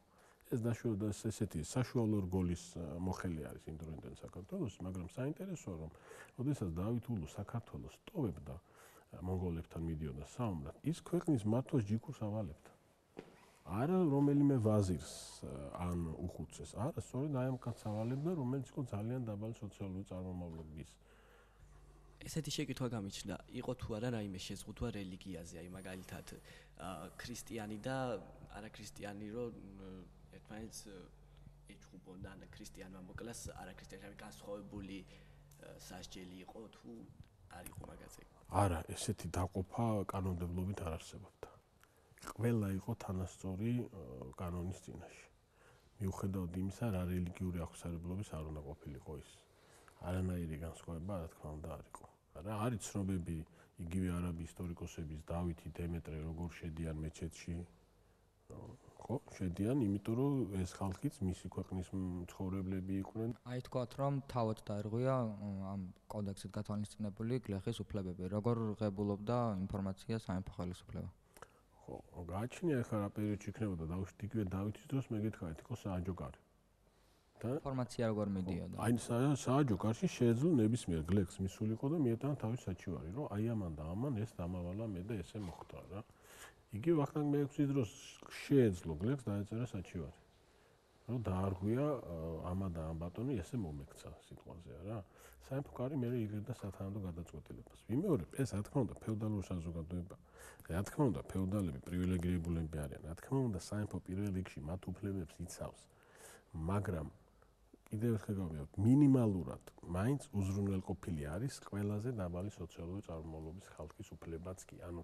ეს დაშვება ესეთი საშუალო რგოლის მოხელი არის იმ დროინდელ საქართველოს, მაგრამ საინტერესოა, რომ როდესაც დავით ულუ საქართველოს ტოვებდა მონღოლებთან მიდიოდა საომრად, ის ქვეყნის მართვას ჯიქურს ავალებდა. არა რომელიმე ვაზირს ან უხუცეს, არა, სწორედ აი ამ კაცს ავალებდა, რომელიც იყო ძალიან დაბალი სოციალური წარმომავლობის. ესეთი შეკითხვა გამიჩნდა, იყო თუ არა რაიმე შეზღუდვა რელიგიაზე, აი მაგალითად ქრისტიანი და არაქრისტიანი რო ერთმანეთს ეჭუბონდა, ან ქრისტიანმა მოკლას არაქრისტიანი განსხვავებული სასჯელი იყო თუ არ იყო მაგაზე? არა, ესეთი დაყოფა კანონმდებლობით არ არსებობდა. ყველა იყო თანასწორი კანონის წინაშე. მიუხედავად იმისა, რა რელიგიური აღსარებლობის არ უნდა ყოფილიყო ის. არანაირი განსხვავება, რა თქმა უნდა, არ იყო. რა არის ცნობები იგივე არაბი ისტორიკოსების დავითი, დემეტრე როგორ შედიან მეჩეთში? ხო, შედიან, იმიტომ რომ ეს ხალხიც მისი ქვეყნის მცხოვრებლები იყვნენ. აი თქვათ რომ თავად დაერღვია ამ კოდექსით გათვალისწინებული გლეხის უფლებები. როგორ ღებულობდა ინფორმაცია სამეფო ხელისუფლება? ხო, გააჩნია ახლა რა პერიოდში იქნებოდა დაუშვით იგივე დავითის დროს მე გითხრათ იყო სააჯო კარი. და ინფორმაცია როგორ მიდიოდა? აი სააჯო კარში შეეძლო ნებისმიერ გლეხს მისულიყო და მიეტანა თავის საჩივარი, რომ აი ამან და ამან ეს დამავალა მე და ესე მოხდა რა. იგივე ვახტანგ მეექვსის დროს შეეძლო გლეხს დაეწერა საჩივარი. რომ დაარღვია ამა და ამ ბატონი ესე მომექცა სიტყვაზე რა. სამეფო კარი მე იღებდა სათანადო გადაწყვეტილებას. ვიმეორებ, ეს რა თქმა უნდა ფეოდალური საზოგადოება. რა თქმა უნდა ფეოდალები პრივილეგირებულები არიან. რა თქმა უნდა სამეფო პირველ რიგში მათ უფლებებს იცავს. მაგრამ კიდევ ერთხელ გავიმეორებ, მინიმალურად მაინც უზრუნველყოფილი არის ყველაზე დაბალი სოციალური წარმომავლობის ხალხის უფლებაც კი. ანუ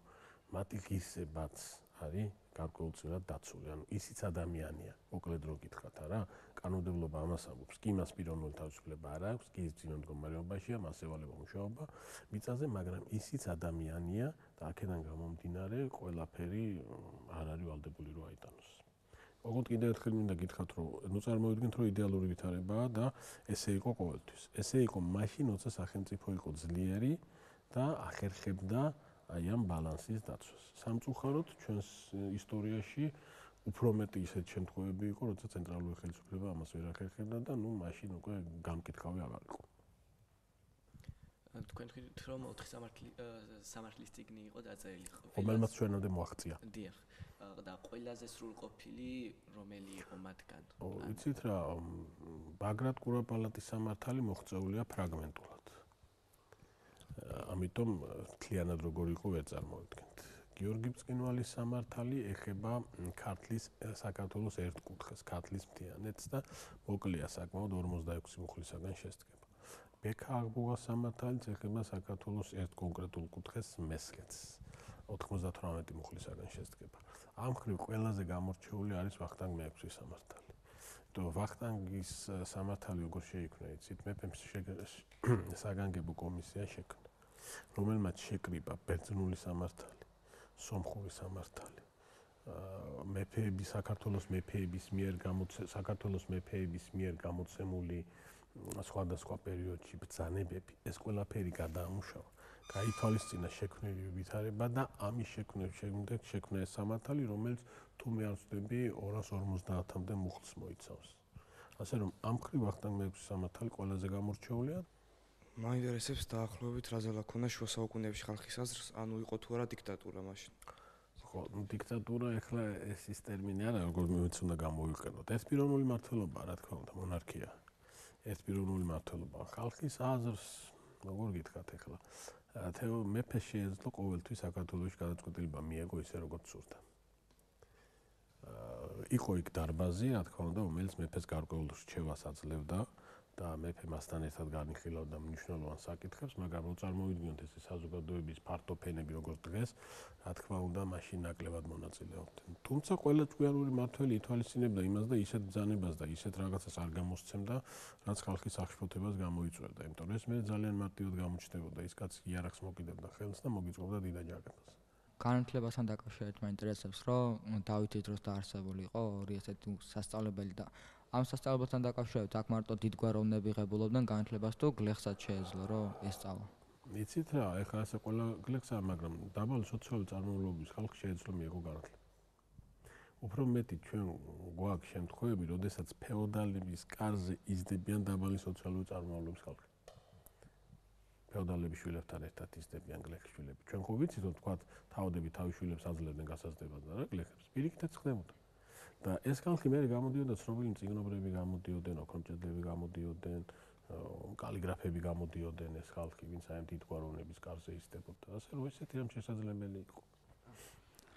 მათი ღირსებაც არის გარკვეულწილად დაცული. ანუ ისიც ადამიანია, მოკლედ რო გითხრათ არა, კანონმდებლობა ამას ამბობს, კი მას პიროვნული თავისუფლება არ აქვს, კი ის ძინო მდგომარეობაშია, მას ევალება მუშაობა მიწაზე, მაგრამ ისიც ადამიანია და აქედან გამომდინარე ყველაფერი არ არის ვალდებული რო აიტანოს. ოღონდ კიდევ ერთხელ მინდა გითხრათ, რომ ნუ წარმოვიდგინეთ, რომ იდეალური ვითარებაა და ესე იყო ყოველთვის. ესე იყო მაშინ, როცა სახელმწიფო იყო ძლიერი და ახერხებდა აი ამ ბალანსის დაცვას. სამწუხაროდ ჩვენს ისტორიაში უფრო მეტი ისეთ შემთხვევები იყო, როცა ცენტრალური ხელისუფლება ამას ვერ ახერხებდა და ნუ მაშინ უკვე გამკითხავი აღარ იყო. თქვენ ხედავთ რომ ოთხი სამართლის წიგნი იყო დაწერილი. რომელმაც ჩვენამდე მოაღწია. დიახ. და ყველაზე სრულყოფილი რომელი იყო მათგან? იცით რა, ბაგრატ კურაპალატის სამართალი მოღწეულია ფრაგმენტულად. ამიტომ მთლიანად როგორ იყო ვერ წარმოვიდგენთ. გიორგი ბწყინვალის სამართალი ეხება ქართლის საქართველოს ერთ კუთხეს, ქართლის მთიანეთს და მოკლეა საკმაოდ ორმოცდაექვსი მუხლისაგან შესდგება. ბექა აღბუღას სამართალიც ეხება საქართველოს ერთ კონკრეტულ კუთხეს მესხეთს, ოთხმოცდათვრამეტი მუხლისაგან შესდგება. ამ მხრივ ყველაზე გამორჩეული არის ვახტანგ მეექვსის სამართალი. თუ ვახტანგის სამართალი როგორ შეიქმნა, იცით, მეფემ საგანგებო კომისია შექმნა, რომელმაც შეკრიბა ბერძნული სამართალი, სომხური სამართალი, მეფეების საქართველოს მეფეების მიერ საქართველოს მეფეების მიერ გამოცემული სხვადასხვა პერიოდში ბრძანებები, ეს ყველაფერი გადაამუშავა. გაითვალისწინა შექმნილი ვითარება და ამის შექმნის შემდეგ შექმნა ეს სამართალი, რომელიც თუ მე არ ვცდები ორას ორმოცდაათამდე მუხლს მოიცავს. ასე რომ ამ მხრივ ვახტანგ მეექვსის სამართალი ყველაზე გამორჩეულია. მაინტერესებს დაახლოებით რა ზელა ქონა შუა საუკუნეებში ხალხის აზრს, ანუ იყო თუ არა დიქტატურა მაშინ. ხო, დიქტატურა ეხლა ეს ის ტერმინი არა, როგორ მეც უნდა გამოვიყენოთ. ეს პიროვნული მმართველობა, რა თქმა უნდა, მონარქია. ეს პიროვნული მმართველობა ხალხის აზრს, როგორ გითხრათ ეხლა, თეო მეფე შეეძლო ყოველთვის საქართველოში გადაწყვეტილება მიეგო ისე როგორც სურდა. იყო იქ დარბაზი, რა თქმა უნდა, რომელიც მეფეს გარკვეულ რჩევას აძლევდა და მეფე მასთან ერთად განიხილავდა მნიშვნელოვან საკითხებს, მაგრამ რო წარმოვიდგინოთ ეს საზოგადოების ფართო ფენები როგორც დღეს, რა თქმა უნდა, მაშინ ნაკლებად მონაწილეობდნენ. თუმცა ყველა ჭკვიანური მმართველი ითვალისწინებდა იმას და ისეთ ბრძანებას და ისეთ რაღაცას არ გამოსცემდა, რაც ხალხის აღშფოთებას გამოიწვევდა. იმიტომ რომ ეს მე ძალიან მარტივად გამოჩნდებოდა, ის კაცი იარაღს მოკიდებდა ხელს და მოგიწყობდა დიდ აჯანყებას. განათლებასთან დაკავშირებით მაინტერესებს, რომ დავითის დროს დაარსებული იყო ორი ესეთი სასწავლებელი და ამ სასწავლებელთან დაკავშირებით აქ მარტო დიდგვაროვნები ღებულობდნენ განათლებას თუ გლეხსაც შეეძლო რომ ესწავლა. იცით რა, ეხლა ასე ყველა გლეხსაა, მაგრამ დაბალი სოციალური წარმომავლობის ხალხი შეეძლო მიიღო განათლება. უფრო მეტი ჩვენ გვაქვს შემთხვევები, როდესაც ფეოდალების კარზე იზრდებიან დაბალი სოციალური წარმომავლობის ხალხი. ფეოდალების შვილებთან ერთად იზრდებიან გლეხის შვილები. ჩვენ ხო ვიცით, რომ თქვა თავდები თავის შვილებს აძლევდნენ გასაზრდებას და რა გლეხებს პირიქითაც ხდებოდა. და ეს ხალხი მე გამოდიოდა ცნობილი მწიგნობრები გამოდიოდნენ, ოქრომჭედლები გამოდიოდნენ, კალიგრაფები გამოდიოდნენ ეს ხალხი, ვინც აი დიდგვაროვნების კარზე იზრდებოდა. ასე რომ ესეთი რამ შესაძლებელი იყო.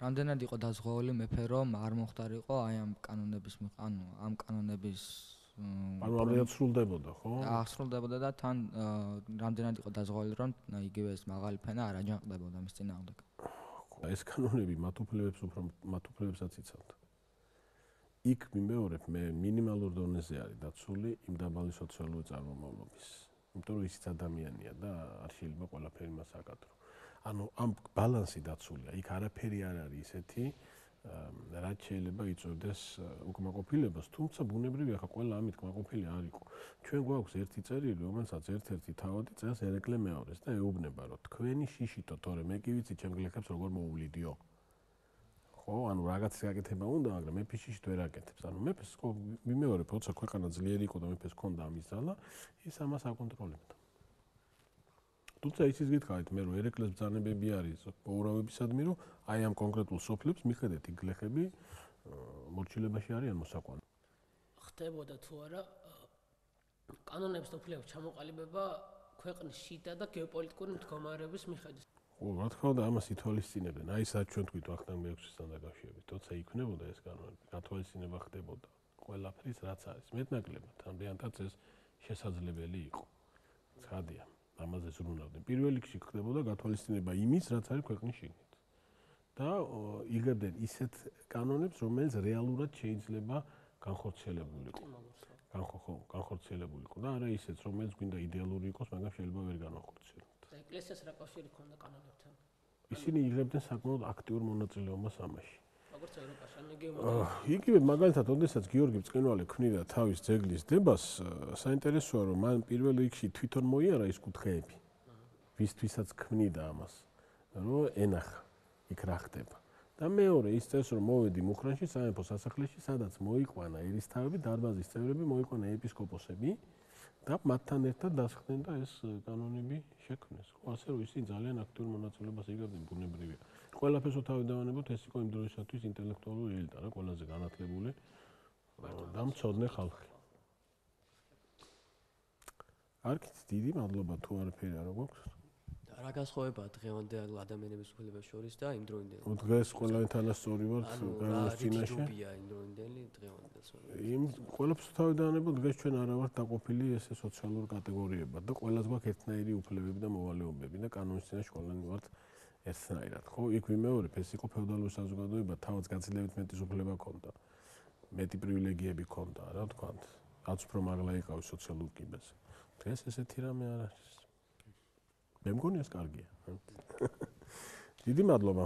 რამდენად იყო დაზღვეული მეფე, რომ არ მოხდარიყო აი ამ კანონების, ანუ ამ კანონების ანუ ამერად სრულდებოდა, ხო? აღსრულდებოდა და თან რამდენად იყო დაზღვეული, რომ იგივე ეს მაღალი ფენა არ აჯანყდებოდა მის წინააღმდეგ. ეს კანონები მათ უფლებებს უფრო მათ უფლებებსაც იცავდა. იქ მიმეორებ მე მინიმალურ დონეზე არის დაცული იმ დაბალი სოციალური წარმომავლობის. იმიტომ რომ ისიც ადამიანია და არ შეიძლება ყველაფერი მას აკადრო. ანუ ამ ბალანსი დაცულია. იქ არაფერი არ არის ისეთი, რაც შეიძლება იწვევდეს უკმაყოფილებას, თუმცა ბუნებრივია ხა ყველა ამით კმაყოფილი არ იყო. ჩვენ გვაქვს ერთი წერილი, რომელსაც ერთ-ერთი თავადი წელს ერეკლე მეორეს და ეუბნება, რომ თქვენი შიშითო, თორე მე კი ვიცი ჩემ გლეხებს როგორ მოუვლიდიო. ხო, ანუ რაღაცა გაკეთება უნდა, მაგრამ მეფე შიშით ვერ აკეთებს. ანუ მეფეს ხო მიმეორებ, როცა ქვეყანა ძლიერი იყო და მეფეს ჰქონდა ამის ძალა, ის ამას აკონტროლებდა. თუმცა ისიც გითხარით მე რომ ერეკლეს ბრძანებები არის მოურავებისადმი რომ აი ამ კონკრეტულ სოფლებს მიხედეთ იქ გლეხები მორჩილებაში არიან მოსაყვანო. ხდებოდა თუ არა კანონების უფლების ჩამოყალიბება ქვეყნის შიდა და გეოპოლიტიკური მდგომარეობის მიხედვით. ხო, რა თქმა უნდა ამას ითვალისწინებენ. აი სად ჩვენ თქვით ვახტანგ მეექვსისთან დაკავშირებით, თორსა იქნებოდა ეს კანონები, გათვალისწინება ხდებოდა ყველაფრის რაც არის. მეტნაკლებად ამდენადაც ეს შესაძლებელი იყო. ცხადია. ამაზე ზრუნავდნენ. პირველ რიგში ხდებოდა გათვალისწინება იმის, რაც არის ქვეყნის შიგნით. და იღებდნენ ისეთ კანონებს, რომელიც რეალურად შეიძლება განხორციელებულიყო. განხო, განხორციელებულიყო და არა ისეთ, რომელიც გვინდა იდეალური იყოს, მაგრამ შეიძლება ვერ განახორციელოთ. და ეკლესიას რა კავშირი ჰქონდა კანონებთან? ისინი იღებდნენ საკმაოდ აქტიურ მონაწილეობას ამაში. როგორც ევროპაში, ან იგივე იგივე მაგალითად, ოდესაც გიორგი ბწყინვალი ქმნიდა თავის ძეგლის დებას, საინტერესოა რომ მან პირველ რიგში თვითონ მოიარა ის კუთხეები, ვისთვისაც ქმნიდა ამას, რომ ენახა იქ რა ხდება. და მეორე ის წეს რომ მოვედი მუხრანში სამეფო სასახლეში, სადაც მოიყვანა ერისთავები, დარბაზის წევრები, მოიყვანა ეპისკოპოსები და მათთან ერთად დასხდნენ და ეს კანონები შექმნეს. ხო, ასე რომ ისინი ძალიან აქტიურ მონაწილეობას იღებდნენ ბუნებრივია. ყველაფერს თავიდანებოთ ეს იყო იმ დროისათვის ინტელექტუალური ელიტა რა, ყველაზე განათლებული და მცოდნე ხალხი. არქით დიდი მადლობა თუ არაფერი არ გვაქვს. რა განსხვავებაა დღევანდელ ადამიანების უფლებებს შორის და იმ დროინდელი? დღეს ყველანი თანასწორი ვართ კანონის წინაშე. რიგია იმ დროინდელი დღევანდელს. იმ ყველაფერს თავიდანებოთ დღეს ჩვენ არა ვართ დაყოფილი ესე სოციალურ კატეგორიებად და ყველას გვაქვს ერთნაირი უფლებები და მოვალეობები და კანონის წინაშე ყველანი ვართ ერთნაირად. ხო, იქ ვიმეორებ, ეს იყო ფეოდალური საზოგადოება, თავად გაცილებით მეტი უფლება ჰქონდა. მეტი პრივილეგიები ჰქონდა, რა ვთქვათ, რაც უფრო მაღლა იყავის სოციალურ კიბეზე. დღეს ესეთი რამე არ არის. მე მგონი ეს კარგია. დიდი მადლობა.